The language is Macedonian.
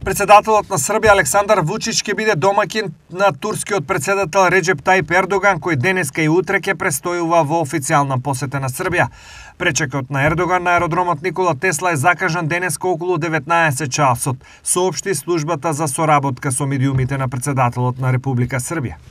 Председателот на Србија Александар Вучич ќе биде домаќин на турскиот председател Реџеп Тајип Ердоган, кој денеска и утре ќе престојува во официјална посета на Србија. Пречекот на Ердоган на аеродромот Никола Тесла е закажан денеска околу 19 часот, соопшти службата за соработка со медиумите на председателот на Република Србија.